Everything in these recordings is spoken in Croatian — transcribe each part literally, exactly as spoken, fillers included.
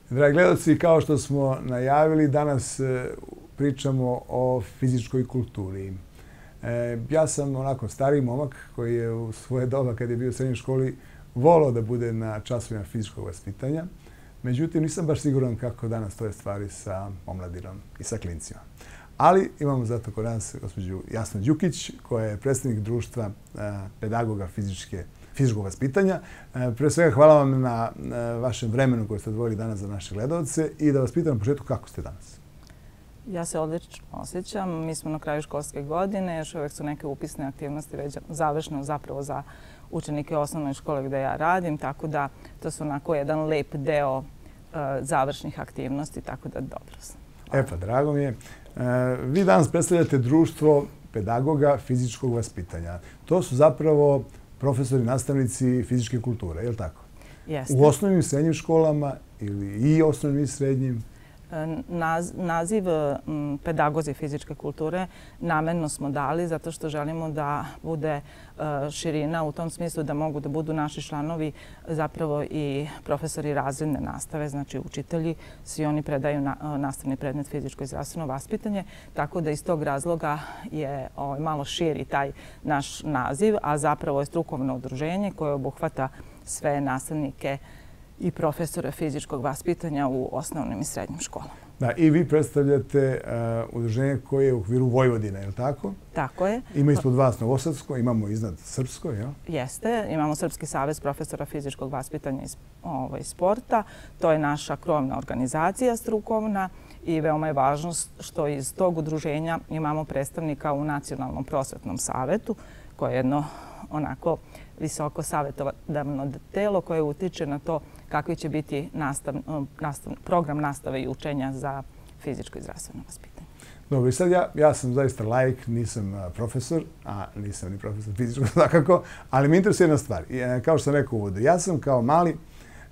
Dragi gledalci, kao što smo najavili, danas pričamo o fizičkoj kulturi. Ja sam onako stariji momak koji je u svoje doba, kad je bio u srednjoj školi, volao da bude na časovima fizičkog vaspitanja. Međutim, nisam baš siguran kako danas stoje stvari sa omladinom i sa klincima. Ali imamo zato kod nas gospođu Jasnu Đukić, koja je predstavnik društva pedagoga fizičkog vaspitanja. Pre svega, hvala vam na vašem vremenu koje ste odvojili danas za naše gledalce i da vas pitam na početku kako ste danas. Ja se odlično osjećam. Mi smo na kraju školske godine, još uvijek su neke upisne aktivnosti već završene zapravo za učenike osnovne škole gdje ja radim, tako da to su onako jedan lep deo završnih aktivnosti, tako da dobro sam. E pa, drago mi je. Vi danas predstavljate društvo pedagoga fizičkog vaspitanja. To su zapravo profesori, nastavnici fizičke kulture, je li tako? Jeste. U osnovnim i srednjim školama ili i osnovnim i srednjim? Naziv pedagozi fizičke kulture namjerno smo dali zato što želimo da bude širina u tom smislu da mogu da budu naši članovi zapravo i profesori razredne nastave, znači učitelji, svi oni predaju nastavni predmet fizičko i zdravstveno vaspitanje, tako da iz tog razloga je malo širi taj naš naziv, a zapravo je strukovno udruženje koje obuhvata sve nastavnike i profesore fizičkog vaspitanja u osnovnim i srednjim školama. Da, i vi predstavljate udruženje koje je u okviru Vojvodine, je li tako? Tako je. Ima ispod vas Novosadsko, imamo iznad Srpsko, jel? Jeste. Imamo Srpski savez profesora fizičkog vaspitanja i sporta. To je naša krovna organizacija strukovna i veoma je važno što iz tog udruženja imamo predstavnika u Nacionalnom prosvetnom savetu, koje je jedno onako visoko savjetodavno telo koje utiče na to kakvi će biti program nastave i učenja za fizičko i zdravstveno vaspitanje. Dobro, i sad ja, ja sam zaista laik, nisam profesor, a nisam ni profesor fizičkog svakako, ali me interesuje jedna stvar. Kao što sam rekao u uvodu, ja sam kao mali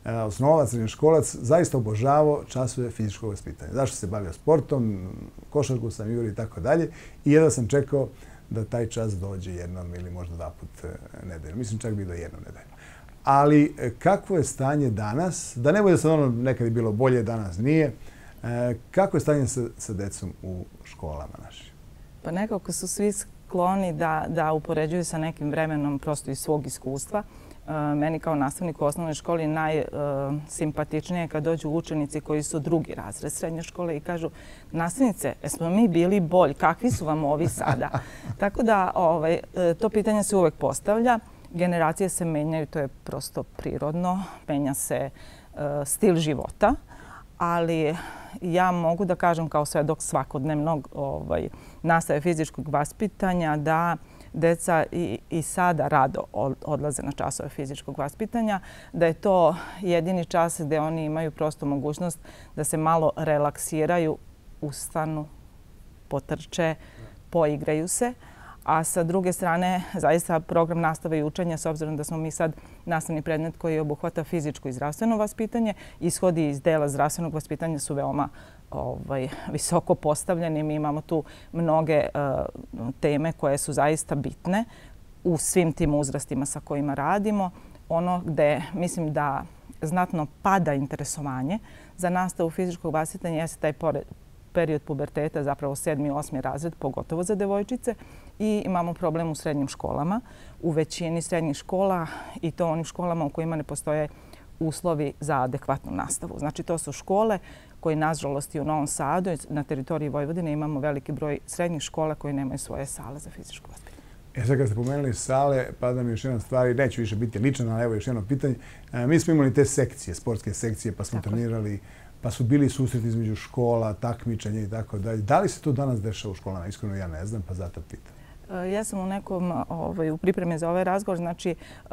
osnovac, srednjoškolac, zaista obožavao časove fizičkog vaspitanja. Zašto se bavio sportom, košarku sam igrao i tako dalje. I jedva sam čekao da taj čas dođe jednom ili možda dva put nedeljno. Mislim čak bi do jednom nedeljno. Ali kakvo je stanje danas? Da ne bude sad ono nekad je bilo bolje, danas nije. Kako je stanje sa, sa decom u školama našim? Pa nekako su svi skloni da, da upoređuju sa nekim vremenom prosto iz svog iskustva. Meni kao nastavnik u osnovnoj školi najsimpatičnije je kad dođu učenici koji su drugi razred srednje škole i kažu nastavnice, jesmo mi bili bolji, kakvi su vam ovi sada? Tako da ovaj, to pitanje se uvek postavlja. Generacije se menjaju, to je prosto prirodno, menja se uh, stil života, ali ja mogu da kažem kao svedok svakodnevnog ovaj, nastave fizičkog vaspitanja da deca i, i sada rado odlaze na časove fizičkog vaspitanja, da je to jedini čas gdje oni imaju prosto mogućnost da se malo relaksiraju, ustanu, potrče, poigraju se. A sa druge strane, zaista program nastave i učenja, s obzirom da smo mi sad nastavni predmet koji obuhvata fizičko i zdravstveno vaspitanje, ishodi iz dela zdravstvenog vaspitanja su veoma ovaj, visoko postavljeni. Mi imamo tu mnoge uh, teme koje su zaista bitne u svim tim uzrastima sa kojima radimo. Ono gde mislim da znatno pada interesovanje za nastavu fizičkog vaspitanja jeste taj pored, period puberteta, zapravo sedmi i osmi razred, pogotovo za devojčice. I imamo problem u srednjim školama. U većini srednjih škola i to onim školama u kojima ne postoje uslovi za adekvatnu nastavu. Znači to su škole koje, nažalost, i u Novom Sadu i na teritoriji Vojvodine imamo veliki broj srednjih škola koji nemaju svoje sale za fizičko vaspitanje. E sad kad ste pomenuli sale, pada mi još jedna stvar i neću više biti ličan, ali evo još jedno pitanje. Mi smo imali te sekcije, sportske sekcije, pa smo trenirali, pa su bili susreti između škola, takmičenja i tako dalje. Da li se to danas dešava u školama? Iskreno ja ne znam, pa zato pitam. Ja sam u nekom, ovaj, u pripremi za ovaj razgovor, znači uh,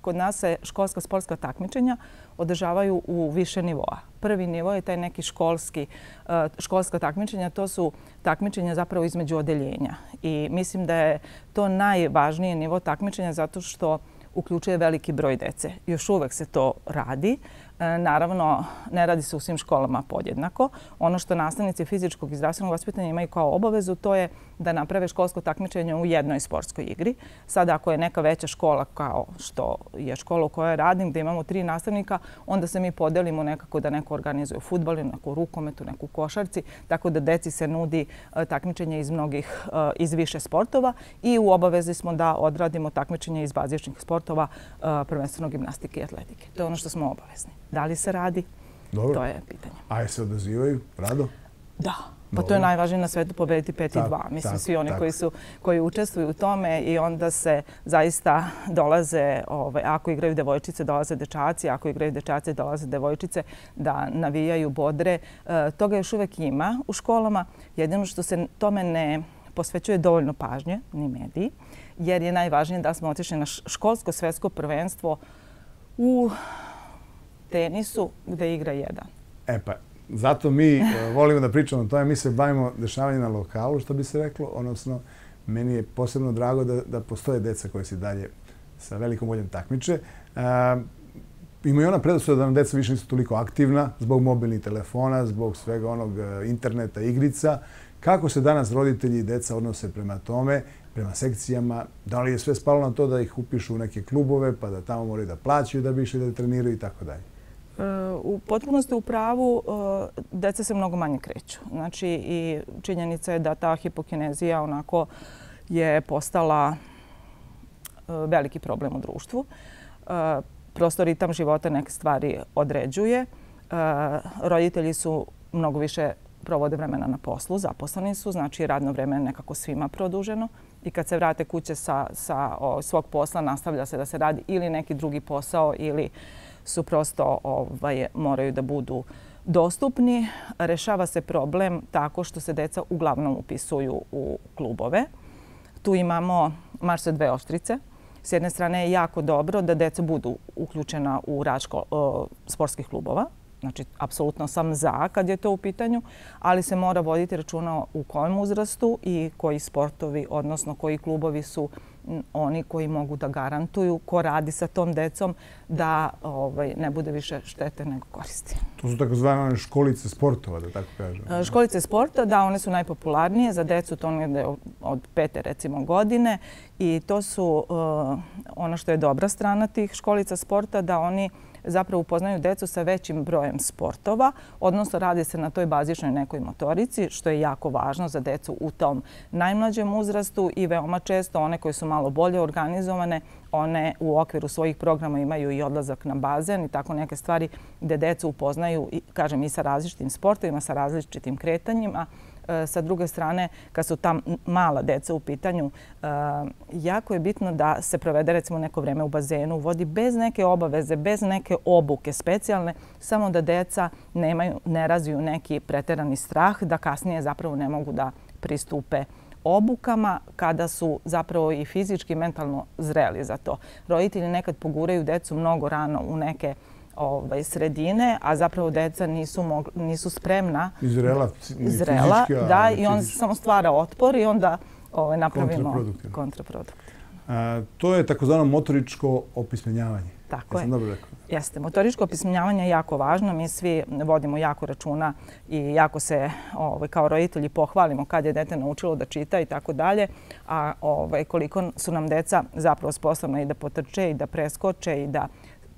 kod nas se školska sportska takmičenja održavaju u više nivoa. Prvi nivo je taj neki školski, uh, školska takmičenja, to su takmičenja zapravo između odeljenja. I mislim da je to najvažniji nivo takmičenja zato što uključuje veliki broj dece. Još uvek se to radi. Naravno, ne radi se u svim školama podjednako. Ono što nastavnici fizičkog i zdravstvenog vaspitanja imaju kao obavezu, to je da naprave školsko takmičenje u jednoj sportskoj igri. Sad, ako je neka veća škola kao što je škola u kojoj radim, gdje imamo tri nastavnika, onda se mi podelimo nekako da neko organizuje fudbal, neku rukometu, neku košarci, tako da deci se nudi takmičenje iz mnogih, iz više sportova i u obavezi smo da odradimo takmičenje iz bazičnih sportova, prvenstveno gimnastike i atletike. To je ono što smo obavezni. Da li se radi? Dobro. To je pitanje. A je se odazivaju rado? Da. Pa to je najvažnije na svetu, pobediti pet i dva. Mislim, svi oni koji su, koji učestvuju u tome i onda se zaista dolaze, ako igraju devojčice, dolaze dečaci, ako igraju dečaci, dolaze devojčice da navijaju, bodre. Toga još uvek ima u školama. Jedino što se tome ne posvećuje dovoljno pažnje, ni mediji, jer je najvažnije da smo otišli na školsko svetsko prvenstvo u tenisu gde igra jedan. E pa, zato mi volimo da pričamo o tome. Mi se bavimo dešavanjem na lokalu, što bi se reklo. Odnosno, meni je posebno drago da, da postoje deca koje se dalje sa velikom voljom takmiče. E, ima i ona predrasuda da nam deca više nisu toliko aktivna zbog mobilnih telefona, zbog svega onog interneta, igrica. Kako se danas roditelji i deca odnose prema tome, prema sekcijama? Da li je sve spalo na to da ih upišu u neke klubove, pa da tamo moraju da plaćaju da bi išli da treniraju i tako dalje? U potpunosti u pravu, deca se mnogo manje kreću. Znači, i činjenica je da ta hipokinezija onako je postala veliki problem u društvu. Prosto ritam života neke stvari određuje. Roditelji su mnogo više provode vremena na poslu, zaposleni su, znači radno vreme je nekako svima produženo i kad se vrate kuće sa, sa o, svog posla nastavlja se da se radi ili neki drugi posao ili su prosto ovaj, moraju da budu dostupni. Rešava se problem tako što se deca uglavnom upisuju u klubove. Tu imamo marš sa dve oštrice. S jedne strane je jako dobro da deca budu uključena u rad ško, o, sportskih klubova. Znači, apsolutno sam za kad je to u pitanju, ali se mora voditi računa u kojem uzrastu i koji sportovi, odnosno koji klubovi su oni koji mogu da garantuju ko radi sa tom decom da ovaj, ne bude više štete nego koristi. To su takozvane školice sportova, da tako kažem. Školice sporta, da, one su najpopularnije za decu, to negde od pete recimo godine i to su uh, ono što je dobra strana tih školica sporta, da oni zapravo upoznaju decu sa većim brojem sportova, odnosno radi se na toj bazičnoj nekoj motorici, što je jako važno za decu u tom najmlađem uzrastu i veoma često one koje su malo bolje organizovane, one u okviru svojih programa imaju i odlazak na bazen i tako neke stvari gde decu upoznaju, kažem, i sa različitim sportovima, sa različitim kretanjima. Sa druge strane, kad su tam mala deca u pitanju, jako je bitno da se provede recimo neko vreme u bazenu, u vodi bez neke obaveze, bez neke obuke specijalne, samo da deca nemaju, ne razviju neki preterani strah, da kasnije zapravo ne mogu da pristupe obukama kada su zapravo i fizički i mentalno zreli za to. Roditelji nekad poguraju decu mnogo rano u neke Ovaj, sredine, a zapravo deca nisu, mogli, nisu spremna. Izrela, izrela fizički, da, i on samo stvara otpor i onda ovaj, napravimo kontraproduktivno. kontraproduktivno. A, to je takozvano motoričko opismenjavanje. Tako ja je. Dobro rekao. Jeste. Motoričko opismenjavanje je jako važno. Mi svi vodimo jako računa i jako se ovaj, kao roditelji pohvalimo kad je dete naučilo da čita i tako dalje. A ovaj, koliko su nam deca zapravo sposobna i da potrče i da preskoče i da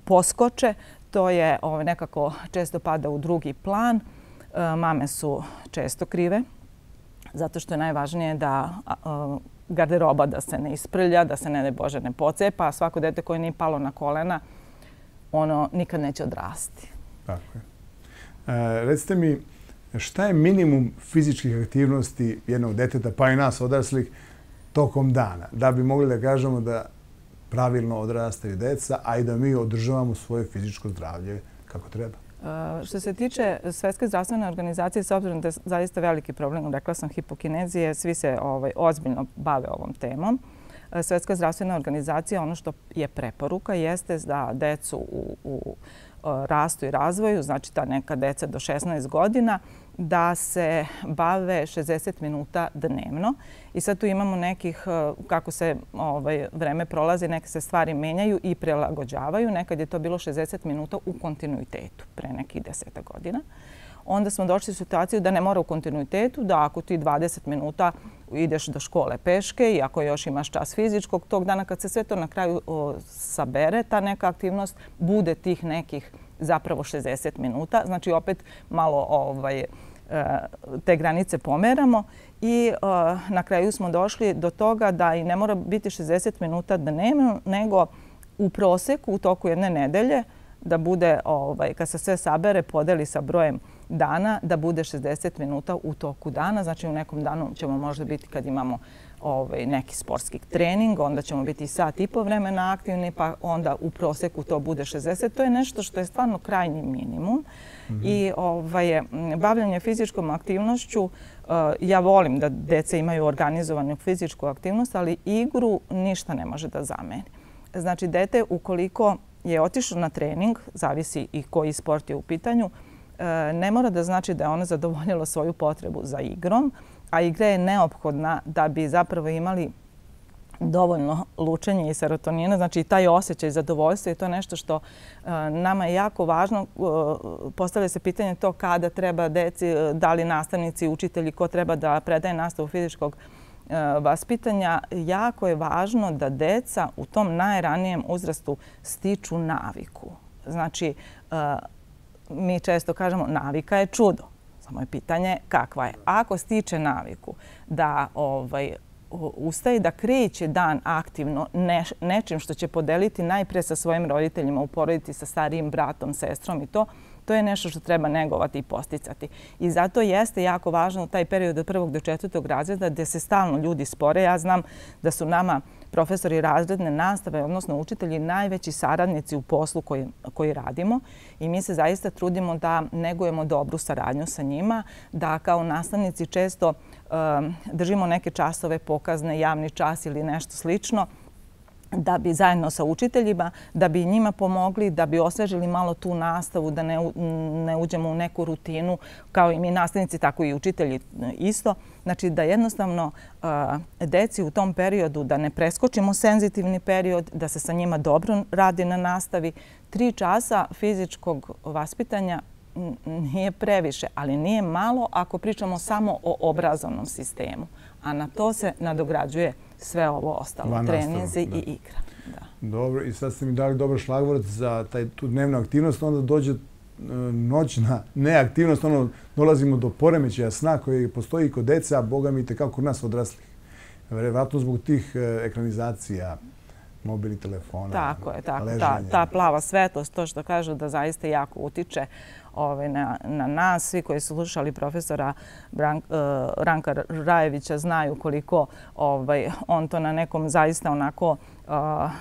poskoče, to je ovaj, nekako često pada u drugi plan. E, mame su često krive, zato što je najvažnije da e, garderoba da se ne isprlja, da se ne, ne Bože ne pocepa, a svako dete koje nije palo na kolena, ono nikad neće odrasti. Tako je. E, recite mi, šta je minimum fizičkih aktivnosti jednog deteta, pa i nas odraslih, tokom dana, da bi mogli da kažemo da pravilno odrastaju deca, a i da mi održavamo svoje fizičko zdravlje kako treba? Uh, što se tiče Svetske zdravstvene organizacije, s obzirom da je zaista veliki problem, rekla sam, hipokinezije, svi se ovaj, ozbiljno bave ovom temom. Uh, Svetska zdravstvena organizacija, ono što je preporuka, jeste da decu u, u rastu i razvoju, znači ta neka deca do šesnaest godina, da se bave šezdeset minuta dnevno. I sad tu imamo nekih, kako se ovaj, vreme prolazi, neke se stvari menjaju i prilagođavaju. Nekad je to bilo šezdeset minuta u kontinuitetu pre nekih deseta godina. Onda smo došli u situaciju da ne mora u kontinuitetu, da ako ti dvadeset minuta ideš do škole peške i ako još imaš čas fizičkog, tog dana kad se sve to na kraju o, sabere, ta neka aktivnost bude tih nekih zapravo šezdeset minuta. Znači opet malo ovaj, te granice pomeramo i na kraju smo došli do toga da i ne mora biti šezdeset minuta dnevno, nego u proseku u toku jedne nedelje da bude, ovaj, kad se sve sabere, podeli sa brojem dana, da bude šezdeset minuta u toku dana. Znači u nekom danu ćemo možda biti kad imamo ovaj, neki sportski trening, onda ćemo biti sat i po vremena aktivni, pa onda u proseku to bude šezdeset. To je nešto što je stvarno krajnji minimum. Mm-hmm. I ovaj, bavljanje fizičkom aktivnošću, uh, ja volim da deca imaju organizovanu fizičku aktivnost, ali igru ništa ne može da zameni. Znači dete ukoliko je otišao na trening, zavisi i koji sport je u pitanju, ne mora da znači da je ono zadovoljilo svoju potrebu za igrom, a igra je neophodna da bi zapravo imali dovoljno lučenja i serotonina. Znači i taj osjećaj zadovoljstva je to nešto što nama je jako važno. Postavlja se pitanje to kada treba deci, da li nastavnici, učitelji, ko treba da predaje nastavu fizičkog vaspitanja. Jako je važno da deca u tom najranijem uzrastu stiču naviku. Znači, mi često kažemo navika je čudo. Samo je pitanje kakva je. Ako stiče naviku da ovaj, ustaje da kreće dan aktivno ne, nečim što će podeliti najpre sa svojim roditeljima, uporediti sa starijim bratom, sestrom i to, to je nešto što treba negovati i posticati. I zato jeste jako važno taj period od prvog do četvrtog razreda gdje se stalno ljudi spore. Ja znam da su nama profesori razredne nastave, odnosno učitelji, najveći saradnici u poslu koji, koji radimo i mi se zaista trudimo da negujemo dobru saradnju sa njima, da kao nastavnici često um, držimo neke časove pokazne, javni čas ili nešto slično, da bi zajedno sa učiteljima, da bi njima pomogli, da bi osvežili malo tu nastavu, da ne, ne uđemo u neku rutinu, kao i mi nastavnici, tako i učitelji isto. Znači da jednostavno uh, deci u tom periodu, da ne preskočimo senzitivni period, da se sa njima dobro radi na nastavi. Tri časa fizičkog vaspitanja nije previše, ali nije malo ako pričamo samo o obrazovnom sistemu. A na to se nadograđuje sve ovo ostalo, treninzi i igra. Da. Dobro, i sad ste mi dali dobar šlagvort za taj, tu dnevnu aktivnost, onda dođe e, noćna neaktivnost, ono, dolazimo do poremećaja sna koji postoji kod deca, a boga mi te kako kod nas odraslih. Vjerojatno zbog tih e, ekranizacija, mobilnih telefona, tako je, tako. Ta, ta plava svetlost, to što kažu da zaista jako utiče ovaj, na, na nas. Svi koji su slušali profesora Brank, uh, Ranka Rajevića znaju koliko ovaj, on to na nekom zaista onako uh,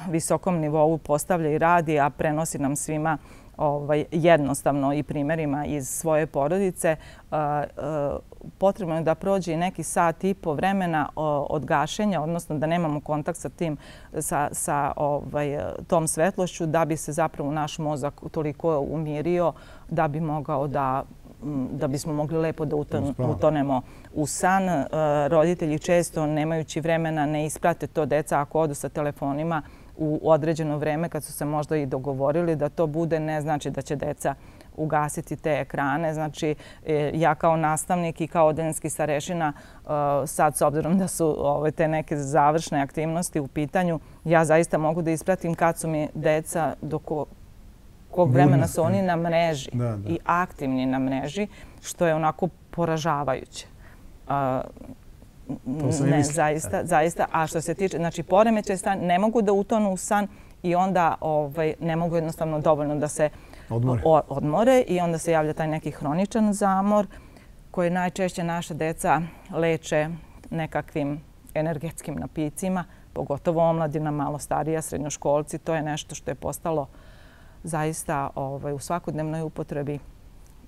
visokom nivou postavlja i radi, a prenosi nam svima ovaj, jednostavno i primjerima iz svoje porodice. Uh, uh, potrebno je da prođe i neki sat i po vremena od gašenja, odnosno da nemamo kontakt sa tim, sa, sa ovaj, tom svetlošću, da bi se zapravo naš mozak toliko umirio da bi mogao da da bismo mogli lepo da utonemo u san. Roditelji često, nemajući vremena, ne isprate to deca ako odu sa telefonima u određeno vreme kad su se možda i dogovorili da to bude, ne znači da će deca ugasiti te ekrane. Znači, ja kao nastavnik i kao odeljenski starešina, sad s obzirom da su ove, te neke završne aktivnosti u pitanju, ja zaista mogu da ispratim kad su mi deca, do ko, kog vremena su oni na mreži da, da. i aktivni na mreži, što je onako poražavajuće. Ne, zaista, zaista. A što se tiče, znači, poremećaj stan, ne mogu da utonu u san i onda ovaj, ne mogu jednostavno dovoljno da se odmore. O, odmore i onda se javlja taj neki hroničan zamor koji najčešće naša deca leče nekakvim energetskim napicima, pogotovo omladina, malo starija, srednjoškolci. To je nešto što je postalo zaista ovaj, u svakodnevnoj upotrebi.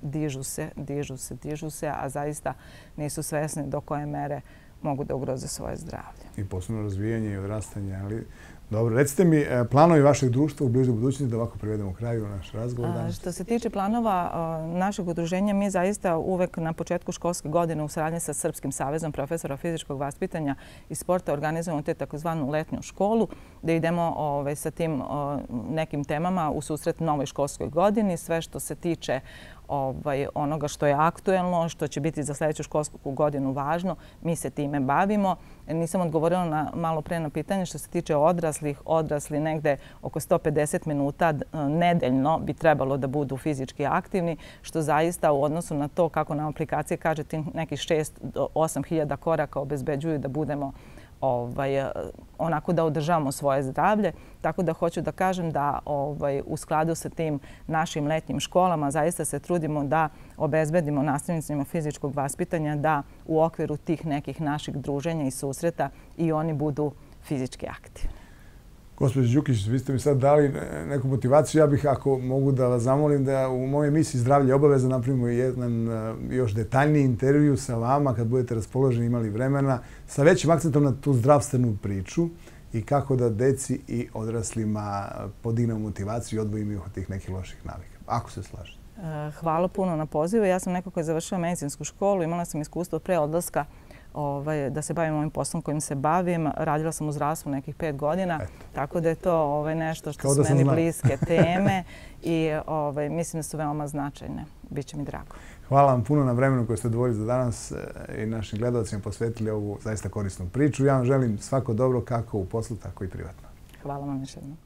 Dižu se, dižu se, dižu se, a zaista nisu svesni do koje mere mogu da ugroze svoje zdravlje. I posebno razvijanje i odrastanje, ali Dobro, recite mi planovi vašeg društva u bližoj budućnosti da ovako privedemo kraju naš razgovor danas. Što se tiče planova našeg udruženja, mi zaista uvek na početku školske godine u saradnji sa Srpskim savezom profesora fizičkog vaspitanja i sporta organizujemo te takozvanu letnju školu, da idemo sa tim nekim temama u susret novoj školskoj godini. Sve što se tiče onoga što je aktuelno, što će biti za sljedeću školsku godinu važno, mi se time bavimo. Nisam odgovorila na malo pre na pitanje što se tiče odraslih. Odrasli negde oko sto pedeset minuta nedeljno bi trebalo da budu fizički aktivni, što zaista u odnosu na to kako nam aplikacije kaže ti nekih šest do osam hiljada koraka obezbeđuju da budemo onako da održavamo svoje zdravlje. Tako da hoću da kažem da u skladu sa tim našim letnjim školama zaista se trudimo da obezbedimo nastavnicima fizičkog vaspitanja da u okviru tih nekih naših druženja i susreta i oni budu fizički aktivni. Gospođo Đukić, vi ste mi sad dali neku motivaciju. Ja bih, ako mogu da vas zamolim, da u mojoj emisiji Zdravlje obaveza napravimo jedan još detaljniji intervju sa vama kad budete raspoloženi, imali vremena, sa većim akcentom na tu zdravstvenu priču i kako da deci i odraslima podignemo motivaciju i odvojimo ih od tih nekih loših navika. Ako se slažete. Hvala puno na pozivu. Ja sam neko koja je završila medicinsku školu, imala sam iskustvo pre odlaska da se bavim ovim poslom kojim se bavim. Radila sam u zdravstvu nekih pet godina, tako da je to nešto što su meni bliske teme i mislim da su veoma značajne. Biće mi drago. Hvala vam puno na vremenu koje ste odvojili za danas i našim gledalcima posvetili ovu zaista korisnu priču. Ja vam želim svako dobro kako u poslu, tako i privatno. Hvala vam još jednom.